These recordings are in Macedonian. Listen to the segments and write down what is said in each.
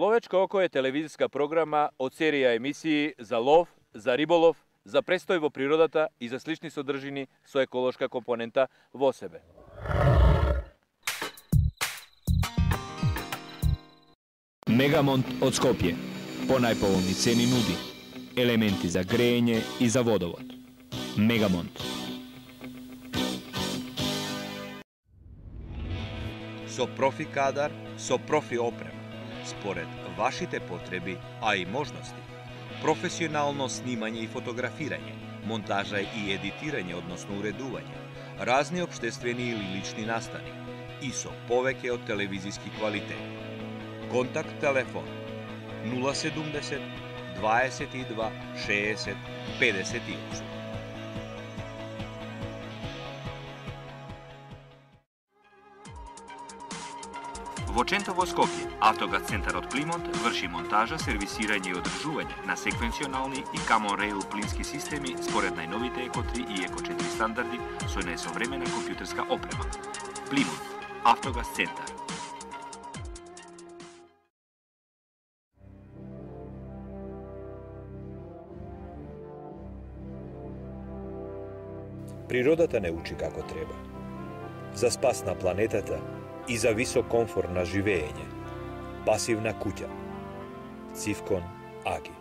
Ловечко око е телевизиска програма од серија емисии за лов, за риболов, за престој во природата и за слични содржини со еколошка компонента во себе. Мегамонт од Скопје. По најповолни цени нуди. Елементи за грејење и за водовод. Мегамонт. Со профи кадар, со профи опрема, според вашите потреби, а и можности. Професионално снимање и фотографирање, монтажа и едитирање, односно уредување, разни општествени или лични настани и со повеќе од телевизиски квалитет. Контакт телефон 070 22 60 58. Во Чентово, Скопје, Автогаз центарот Плимонт врши монтажа, сервисирање и одржување на секвенционални и Common Rail плински системи според најновите Еко 3 и Еко 4 стандарди со најсовремена компјутерска опрема. Плимонт, Автогаз центар. Природата не учи како треба. За спас на планетата и за висок комфорт на живење. Пасивна куќа. Цивкон Аги.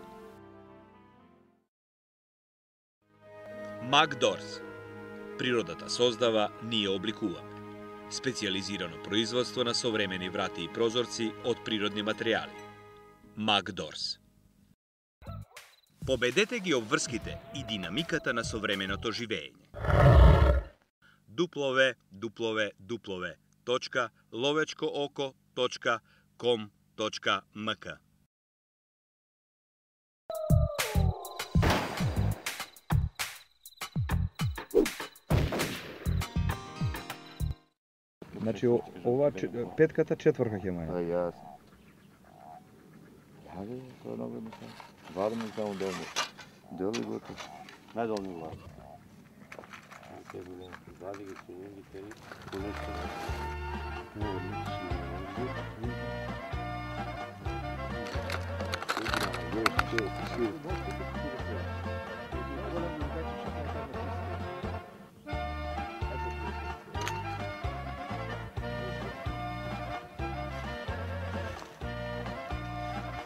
Макдорс. Природата создава, ние обликуваме. Специализирано производство на современи врати и прозорци од природни материјали. Макдорс. Победете ги обврските и динамиката на современото живење. www.lovečkooko.com.mk. Значи, ова петката четврка ќе маја. Јасно. Јаде, тоа много не сам. Варно само долно. Дели готов. Најдолни влад. Те било, вади ги сунинги, тери, понешто.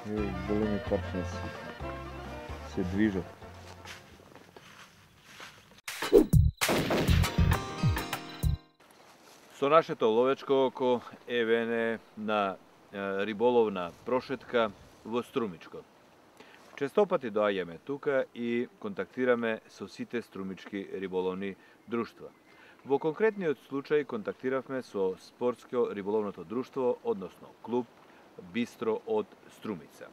Не, големи парченци се движат. Со нашето ловечко око евене на риболовна прошетка во Струмичко. Честопати доаѓаме тука и контактираме со сите струмички риболовни друштва. Во конкретниот случај контактиравме со спортско риболовното друштво, односно клуб Бистро од Струмица.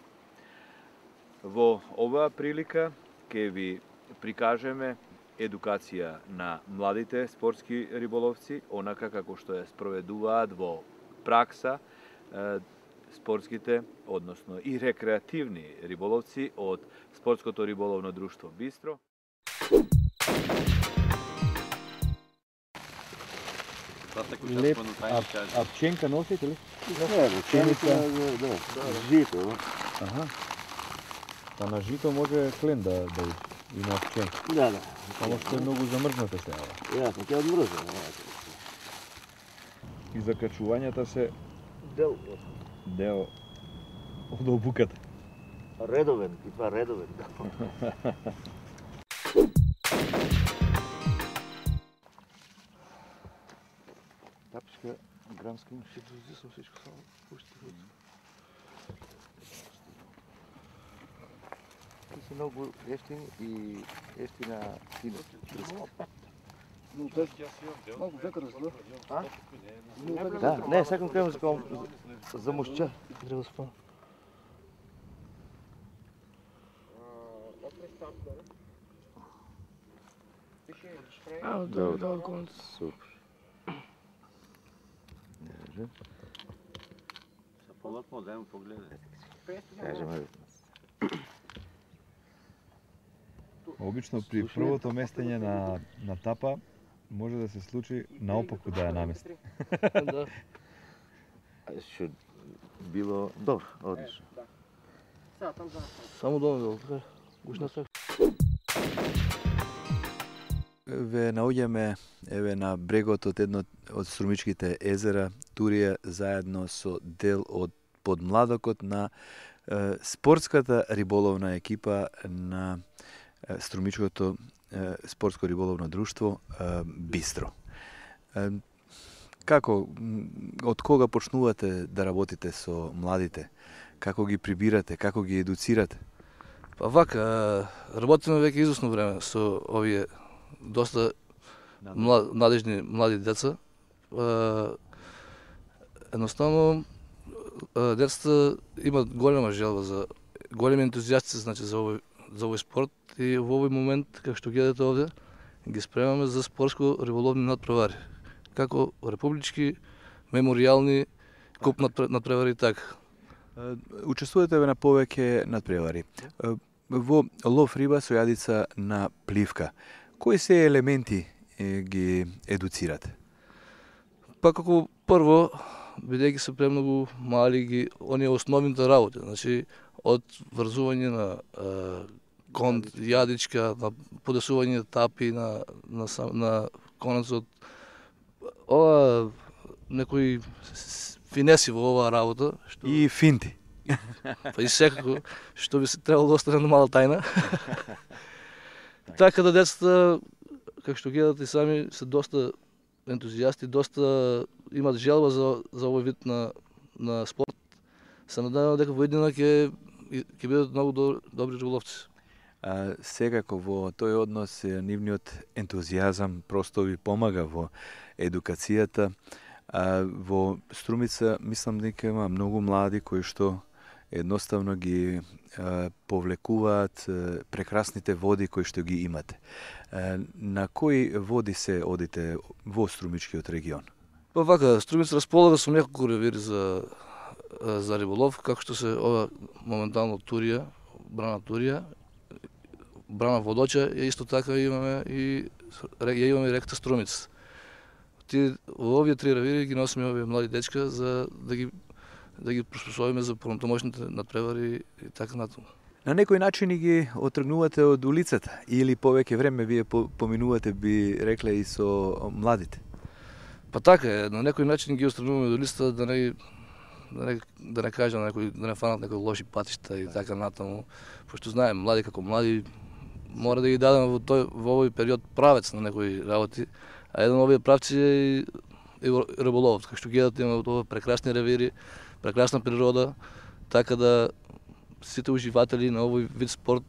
Во оваа прилика ќе ви прикажеме едукација на младите спортски риболовци, онака како што ја спроведуваат во пракса спортските, односно и рекреативни риболовци од спортското риболовно друштво Бистро. Леп, апченка носите ли? Не, реченица, да, жито. Аха. Па на жито може клен да уди. Има апченка. Да, да. Само што е многу замрзната сега. Јасно, ќе одмрзам. И закачувањата се Дел. дел од обуката. Редовен, и това редовен. Тапичка, грамска, ще дози съм всичко само. Пушти го. Те са много ефтини и ефтина тина. Малко века разло. Да, не, сакам крем за мушча. Треба да спам. Да, конц. Супер. Може. Са полотно да им погледа. Кажем, Обично при првото местење на тапа може да се случи наопаку да ја намести. Да. Ще било добро, одлично. Само долу, така. Гушна се. Ве наоѓаме еве на брегот од едно од Струмичките езера, Турија, заедно со дел од подмладокот на спортската риболовна екипа на Струмичкото спортско риболовно друштво Бистро. Како, од кога почнувате да работите со младите? Како ги прибирате, како ги едуцирате? Па вака, работиме веќе известно време со овие доста надежни млади деца. Едноставно, децата имат голема желба за големи ентузијасти, значи за овој спорт, и во овој момент, како што гледате овде, ги спремаме за спортско риболовни надпревари. Како републички, меморијални, куп надпревари, така. Учествувате на повеќе надпревари. Во лов риба со јадица на пливка, кои се елементи ги едуцирате? Па како прво, бидејќи се премногу мали, оние основните работи, значи од врзување на конт, јадичка, на подесување тапи на конецот. Ова некои финеси во оваа работа. И финти. Па и секако, што би се требало да остане мала тајна. Така да децата, како што гледате и сами, се доста ентузијасти, доста имат желба за овој вид на спорт. Се надевам дека во иднина ќе бидат многу добри риболовци. Секако во тој однос нивниот ентузијазам просто ви помага во едукацијата. Во Струмица мислам дека има многу млади кои што едноставно ги повлекуваат прекрасните води кои што ги имате. На кои води се одите во Струмичкиот регион? Па вака, Струмица располага со неколку ревири за риболов, како што се ова моментално Турија, Брана Турија, Брана Водоча, и исто така имаме и реката Струмица. Во овие три ревири ги носиме овие млади дечка за да ги приспособиме за понатамошните надпревари и така натаму. На некој начин ги отргнувате од улицата или повеќе време вие поминувате, би рекле, и со младите? Па така е, на некој начин ги отргнуваме од улицата да не кажам да не фанат некои лоши патишта и така натаму, пошто знаем млади како млади мора да ги дадеме во овој период правец на некои работи, а еден од овие правци е и риболовот. Како што гледате, имаме ова прекрасни ревири, прекрасна природа, така да сите уживатели на овој вид спорт,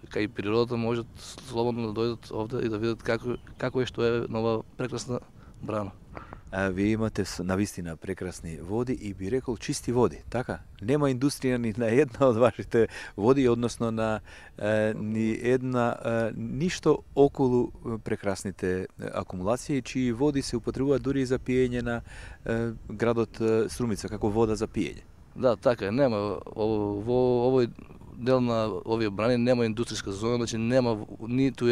кај и природата, можат слободно да дојдат овде и да видат како е што е нова прекрасна Брана. Вие имате навистина прекрасни води и би рекол чисти води, така? Нема индустрија ни на една од вашите води, односно на ни една ништо околу прекрасните акумулации, чии води се употребуваат дури и за пиење на градот Струмица, како вода за пиење. Да, така е, нема во овој дел на овие брани нема индустријска зона, значи нема ниту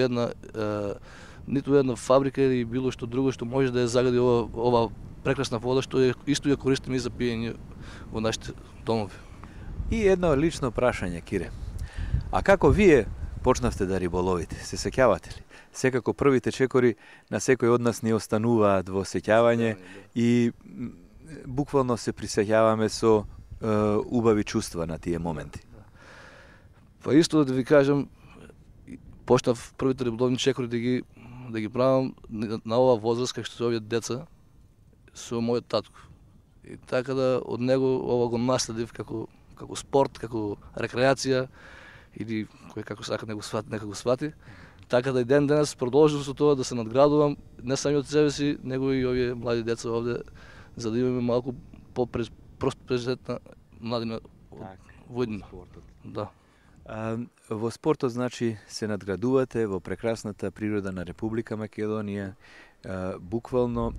една фабрика или било што друго што може да ја загади ова прекрасна вода, што исто ја користиме и за пиење во нашите домови. И едно лично прашање, Кире. А како вие почнавте да риболовите? Се сеќавате ли? Секако првите чекори на секој од нас ни остануваат во сеќавање и буквално се присеќаваме со убави чувства на тие моменти. Па исто да ви кажам, почнав првите риболовни чекори да ги правам на оваа возраст, како што се овие деца, со мојот татко. И така да од него ова го наследив како спорт, како рекреација, или кој како сака нека го свати. Така да и ден денес продолжувам со тоа да се надградувам, не само од себе си, него и овие млади деца овде, за да имаме малку по-просперитетна младина во иднина. Да. Во спортот, значи, се надградувате во прекрасната природа на Република Македонија, буквално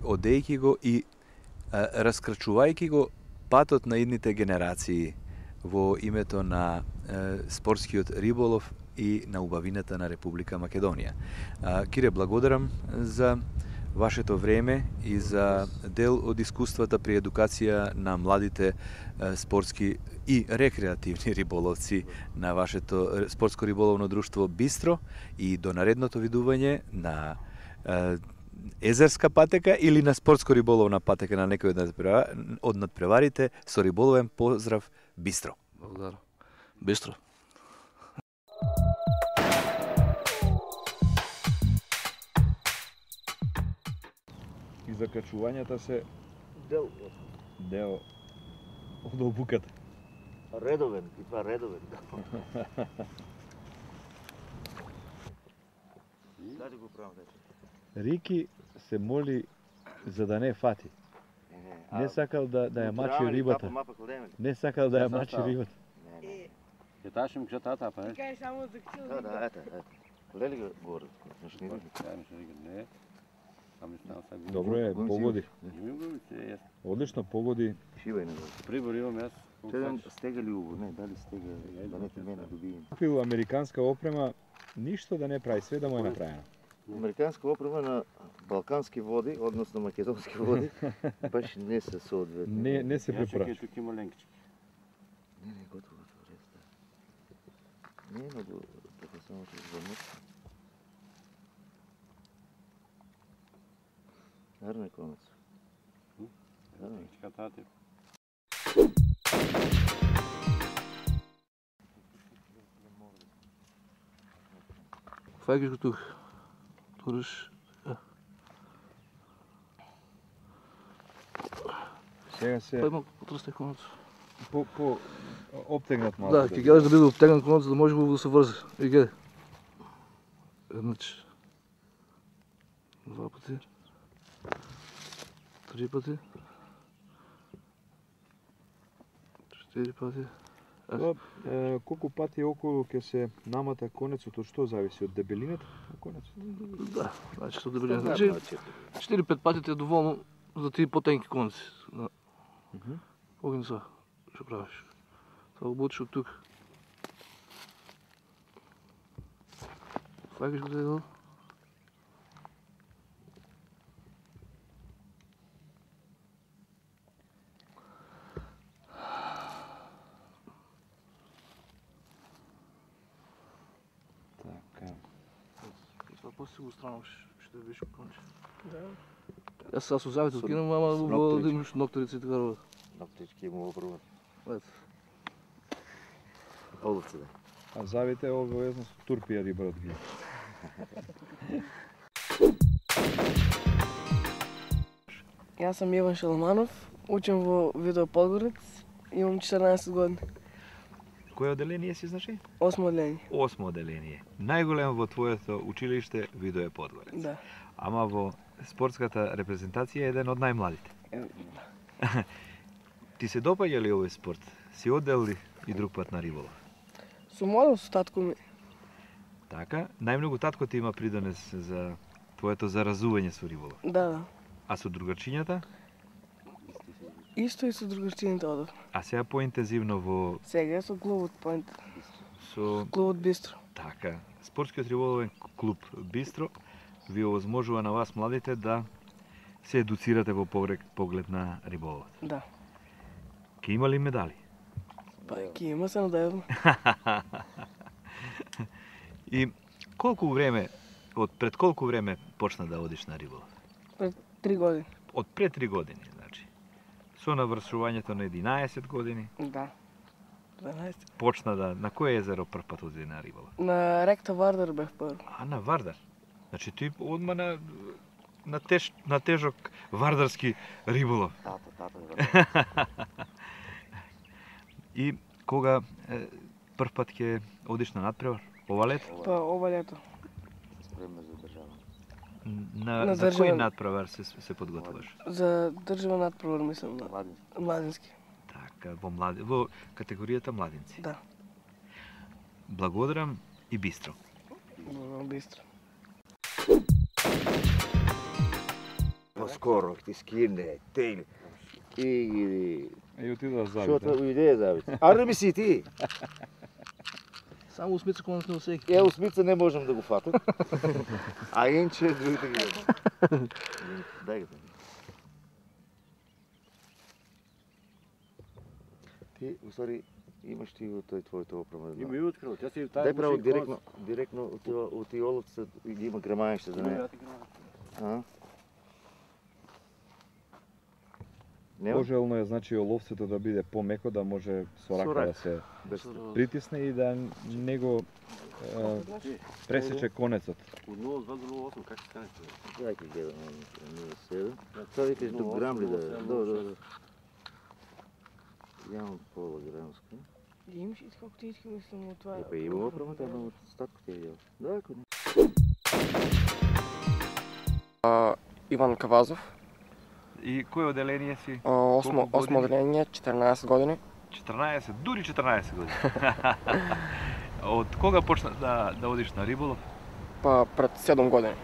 одејќи го и раскрачувајќи го патот на идните генерации во името на спортскиот риболов и на убавината на Република Македонија. Кире, благодарам за вашето време и за дел од искуствата при едукација на младите спортски и рекреативни риболовци на вашето спортско риболовно друштво Бистро и до наредното видување на езерска патека или на спортско риболовна патека на некој од надпреварите со риболовен поздрав Бистро. Благодарам. Бистро. И закачувањата се Дел. дел од обуката. Редовен, и това редовен. Даде го правам, дече. Рики се моли за да не фати. Не сакал да ја мачи рибата. Не сакал да ја мачи рибата. Ќе ташим кша тата, па не? Кај само за кил. Да, ете. Лели го горе. Не. Добро е, погоди. Одлично погоди. Шивај на го. Прибор имам јас. Седем стегали уво, не, дали стега, да не ти мене добием. Купил американска опрема, ништо да не прави, све да му е направено. Американска опрема на балкански води, односно македонски води, баш не се соодветни. Не се препорача. Тук има ленкички. Не, готово, реста. Не, много, така само че звънят. Гарно е конец. Ленкичка тати. Фаќаш го тук. Туриш. Сега се Па малку потрстай конец. по обтегнат малку. Да, ќе гледаш да биде обтегнат конец, за да може да се врзе. И гледай. Еднач. Два пати. Три пати. Четири пати. Колку пати околу ќе се намата конецот, од што зависи? Од дебелината на конецот? Да, значи со дебелина. Значи 4-5 пати ти е доволно за тие потенки конци. Погин са, што правиш? Тоа го бутиш од тук. Фаќаш го дедел. Това после си го странуваш, ще видиш конче. Да. Аз сега со завето кинам, ама да имаш нокторици и така работа. Наптички има опрема. Ето. Оловци, да. А завите е обавезно со турпија рибарот ги. Јас сам Иван Шаламанов, учам во Видео Подгорец, имам 14 години. Кој оделение си, значи? 8 одделение. 8 оделение. Најголемо во твоето училиште Видео е Подгорец. Да. Ама во спортската репрезентација е еден од најмладите. Ти се допаѓа ли овој спорт? Си одел ли и друг пат на риболов? Сум одел со татко ми. Така, најмногу татко ти има придонес за твоето заразување со риболов. Да, да. А со другарчињата? Исто и со другарчините одев. А сега поинтензивно во Сега со клубот Point. со Клубот Бистро. така, спортскиот риболовен клуб Бистро ви овозможува на вас младите да се едуцирате во поглед на риболовот. Да. Ке има ли медали? Па ќе има се надевно. И колку време, пред колку време почна да одиш на риболов? Пред 3 години. Од пред 3 години, значи. Со навршувањето на 11 години Да. 12. почна да на кој езеро прв пат оди на риболов? На ректа Вардар бев прво. А на Вардар. Значи ти одма на тежок вардарски риболов. Тата. И кога прв пат ќе одиш на надпревар? Ова лето? Па ова лето. Спремна за држава. На За кој државен- надпревар се подготвуваш? За државен надпревар мислам на Младински. младински. Така, во категоријата младинци. Да. Благодарам и Бистро. Бистро. Поскоро ти скине, тели. И И отида Што завите. тоа идеја завите? Аре ми си ти. Само усмица конец не усеки. Е, усмица не можам да го фатам. А инче другите ги. Дай го. Ти, усвари, имаш ти твоето оправа. Има и открил, тя си Дай право директно от и оловца ги има грамаеще за нея. Пожелно е, значи, оловцето да биде помеко, да може со рака да се притисне и да не го пресече конецот. Од 0,2 до 0,8, как се канете? Дај ќе гледам 0,7. Тоа викаш до грам ли да е? Да. Јамам пола грамска. Имаш и како ти искам мислам од това. Па има оправа, тоа од статко ти е јел. Да, ако не. Иван Кавазов. И кое оделение си? Осмо оделение, 14 години. 14, дури 14 години. Од кога почна да одиш на риболов? Па пред 7 години.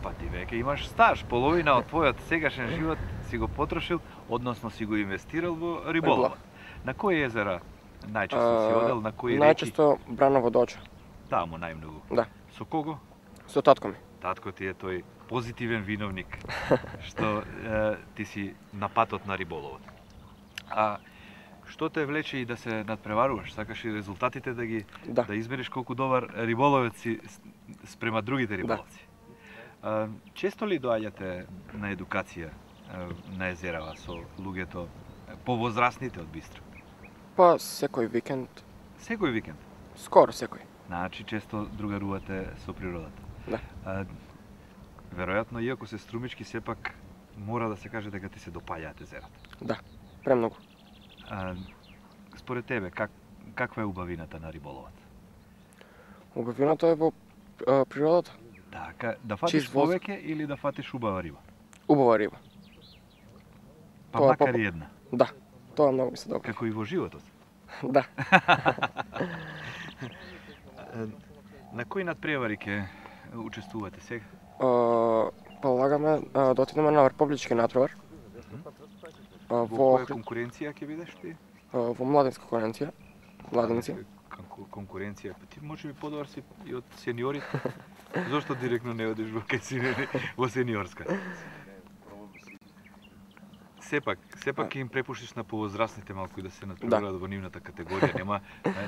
Па ти веќе имаш стаж, половина од твојот сегашен живот си го потрошил, односно си го инвестирал во риболов. На кои езера најчесто си одел, на кои реки? Најчесто Браново Доча. Таму најмногу. Да. Со кого? Со татко ми. Татко ти е тој позитивен виновник што ти си на патот на риболовот. А што те влече и да се надпреваруваш? Сакаш и резултатите да измериш колку добар риболовец си спрема другите риболовци? Често ли доаѓате на едукација на езерава со луѓето повозрасните од Бистро? Па секој викенд. Секој викенд? Скоро секој. Значи често другарувате со природата. Да. Веројатно, иако се струмички, сепак мора да се каже дека ти се допаѓаат езерата. Да, премногу. Според тебе, каква е убавината на риболовот? Убавината е во природата. Така, да фатиш повеќе или да фатиш убава риба? Убава риба. Па макар и една? Да, тоа многу ми се допаѓа. Како и во животот? Да. На кои надпревари ќе учествувате сега? Полагаме да отидеме на Републички надпревар. Во која конкуренција ќе бидеш ти? Во младинска конкуренција. Младинци. Конкуренција, па ти може би подобар си и од сениорите. Зошто директно не одиш во сениорска? Сепак ќе им препуштиш на повозрасните малку и да се надпреварат во нивната категорија.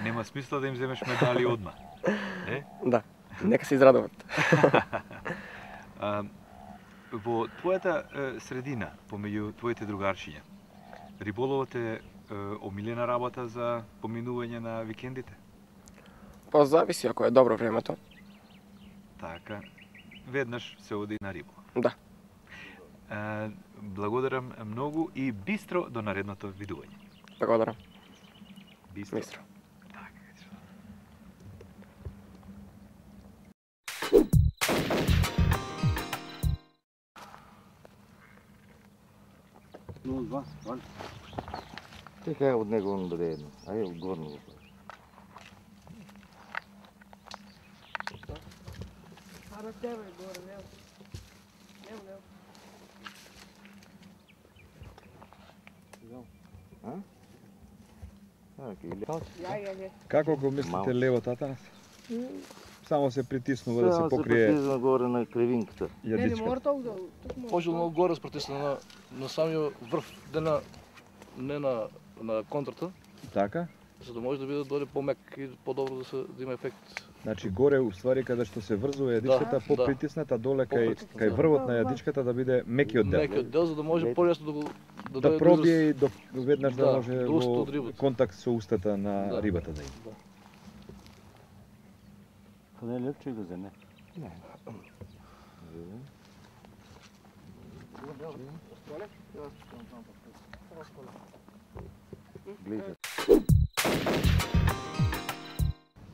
Нема смисла да им земеш медали одма. Да, нека се израдуват. Во твојата средина, помеѓу твоите другарчиња, риболовот е омилена работа за поминување на викендите? Па зависи ако е добро времето. Така, веднаш се оди на риболов. Да. Благодарам многу и бистро до наредното видување. Благодарам. Бистро. Така е од него он даде едно. Ајде одгорно го прави. Ара тебе горе, лево. Како го мислите левот, Атанас? Само се притиснува да се покрие. Само се притиснува горе на кривинката. Јадичка. Пожелно горе спритисна на самиот врв, не на контрата. Така? За да може да биде дојде помек и подобро да има ефект. Значи горе уствари каде што се врзува јадичката, попритисната доле кај врвот на јадичката да биде мекиот дел. Мекиот дел за да може полесно да пробие и веднаш да може во контакт со устата на рибата да има. Па не лепче го земе. Не.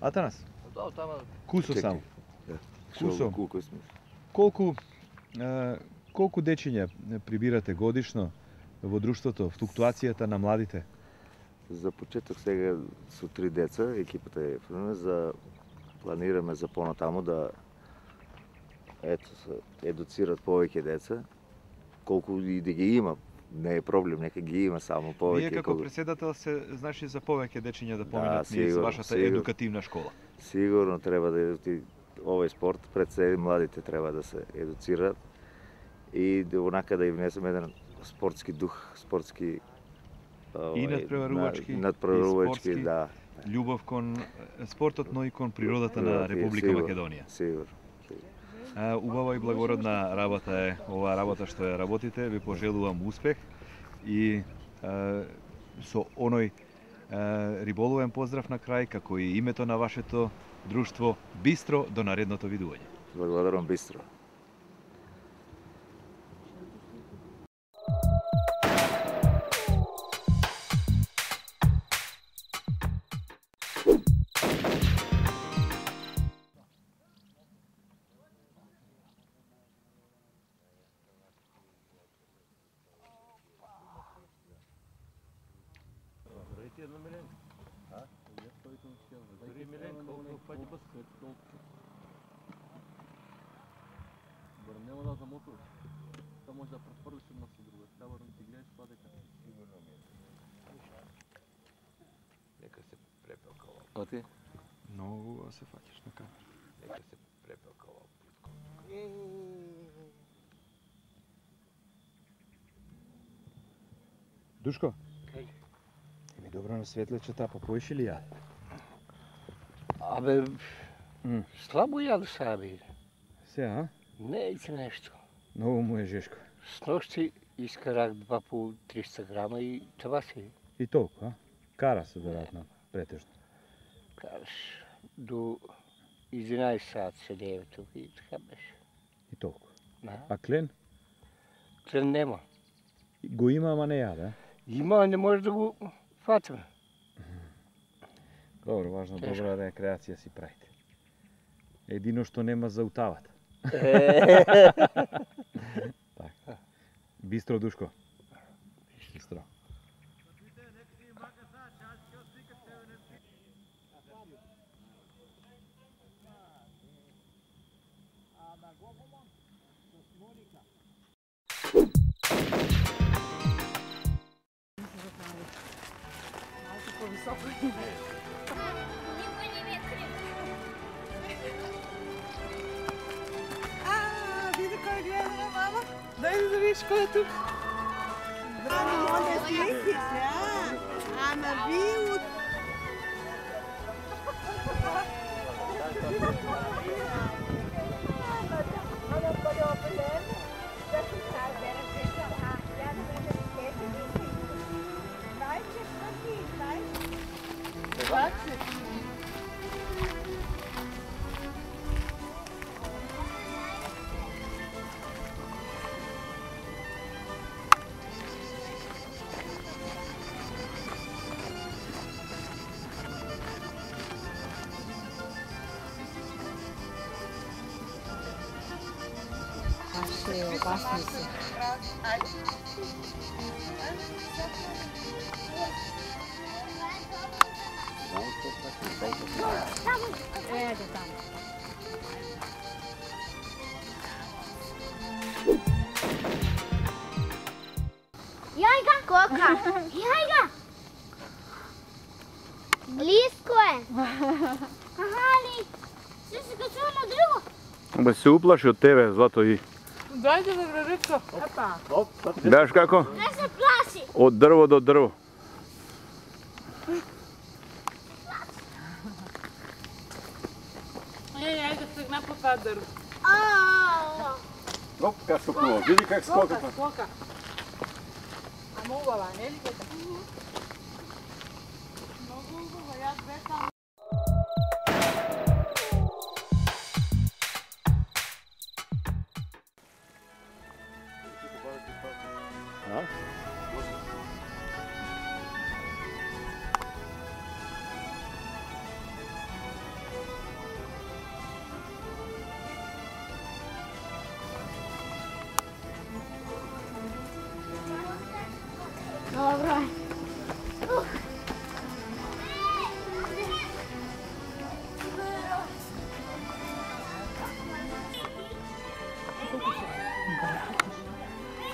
Атанас? Да, тама. Кусо само. Кусо. Колку дечиња прибирате годишно во друштвото, флуктуацијата на младите? За почеток сега со 3 деца, екипата е планираме за понатаму да едуцират повеќе деца, колку и да ги има. Не е проблем, нека ги има само повеќе. Вие како председател се значи за повеќе дечиња да поминат низ вашата едукативна школа. Сигурно треба да овој спорт пред се младите треба да се едуцираат и онака да и внесеме еден спортски дух, спортски и надпреварувачки, надпреварувачки, да. Љубов кон спортот, но и кон природата на Република Македонија. Сигурно. Убава и благородна работа е оваа работа што ја работите. Ви пожелувам успех и со оној риболовен поздрав на крај, како и името на вашето друштво Бистро, до наредното видување. Благодарам, Бистро. Нема да замотуваш. Та може да префрлиш една со друга. Треба да ти гледаш тоа дека сигурно ми е. Нека се препелкава. А ти? Многу се фаќаш на камера. Нека се препелкава. Душко? Еми добро на светлечета, па поиш ли ја? Абе, слабо јаду сега, бе. Се, а? Не иде нешто. Многу му е жешко. Сношти искарах 2,5-300 грама и това си. И толку, а? Кара се веројатно, претежно. Караш до 11 сат седеме тук и така беше. И толку. Да. А клен? Клен нема. Го има, ама не јаде? Има, не може да го фатиме. Добро, важно, добра рекреација си правите. Едино што нема за утавата. Така. Бистро, Душко. Бистро. Види кој гледа, мама. Дај да видиш кој е тук. Браво, онде слики се, а на вилот. Опасни се. Еде таму. Јај га, кока. Јај га. Близко е. Аха ли. Се се качува на друго. Бе се уплаши од тебе, Злато и... Дајте да градичко. Епа. Знаеш како? Не се плаши. Од дрво до дрво. Ајде сегна по тоа дрво. Оп, как скокува, види как скока. Скока. Ама убава, не ли дека? Многу убава, јас бесам. Добро.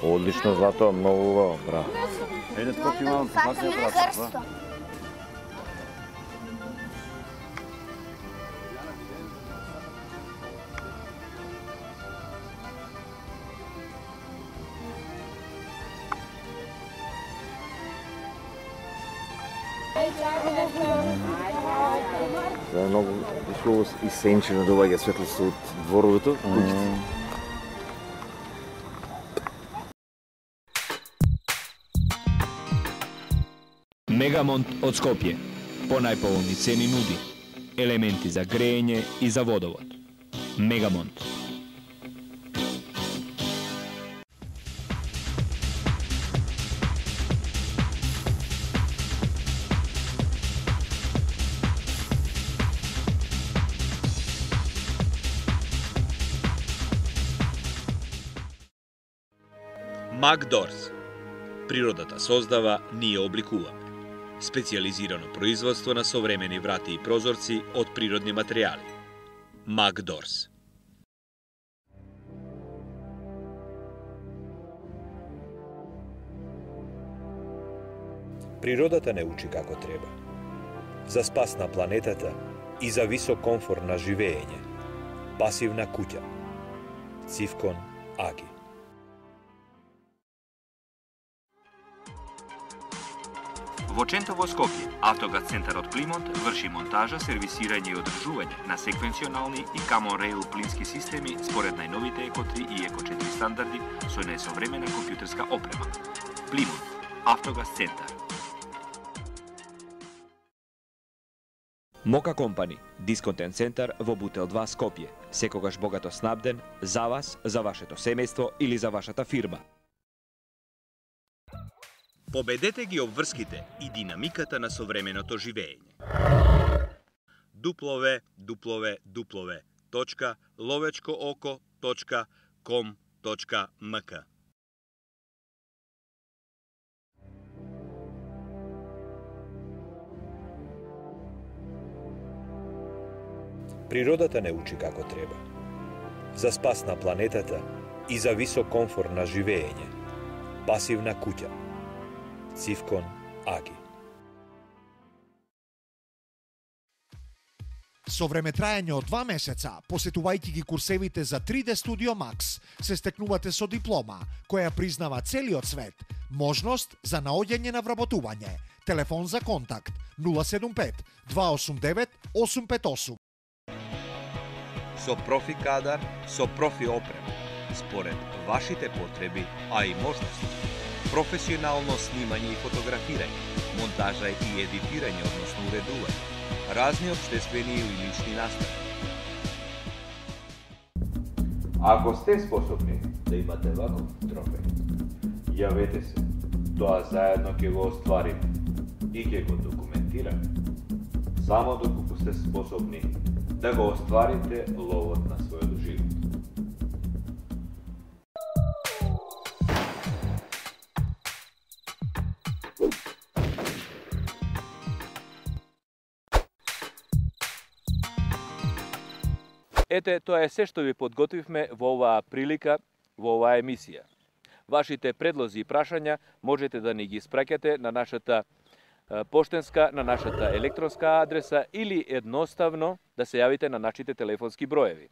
Одлично, Злато, многу убаво, браво. Еде, скоки малко, факија брат. За многу ишло и сенчено доаѓа светлост од дворовето, куќите. Мегамонт од Скопје. По најповолни цени нуди елементи за грејење и за водовод. Мегамонт. Макдорс. Природата создава, ние обликуваме. Специјализирано производство на современи врати и прозорци од природни материјали. Макдорс. Природата не учи како треба. За спас на планетата и за висок комфор на живеење. Пасивна куќа. Цивкон Аги. Во Чентово, Скопје, Автогаз центарот Плимонт врши монтажа, сервисирање и одржување на секвенционални и Common Rail плински системи според најновите Еко-3 и Еко-4 стандарди со најсовремена компјутерска опрема. Плимонт, Автогаз центар. Мока компани, дисконтен центар во Бутел 2 Скопје. Секогаш богато снабден за вас, за вашето семејство или за вашата фирма. Победете ги обврските и динамиката на современото живеење. www.lovečkooko.com.mk Природата не учи како треба. За спас на планетата и за висок комфор на живеење. Пасивна куќа. Цивкон Аги. Со времетраење од 2 месеца, посетувајќи ги курсевите за 3D Studio Max, се стекнувате со диплома, која признава целиот свет, можност за наоѓање на вработување. Телефон за контакт 075 289 858. Со профи кадар, со профи опрема, според вашите потреби, а и можности. Професионално снимање и фотографирање, монтажа и едитирање, односно уредување, разни општествени или лични настави. Ако сте способни да имате ваков трофеј, јавете се. Тоа заедно ќе го оствариме и ќе го документираме. Само доколку сте способни да го остварите ловот на својот живот. Ете, тоа е се што ви подготвивме во оваа прилика, во оваа емисија. Вашите предлози и прашања можете да ни ги испраќате на нашата поштенска, на нашата електронска адреса или едноставно да се јавите на нашите телефонски броеви.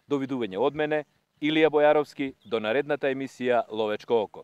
Довидување од мене, Илија Бојаровски, до наредната емисија Ловечко око.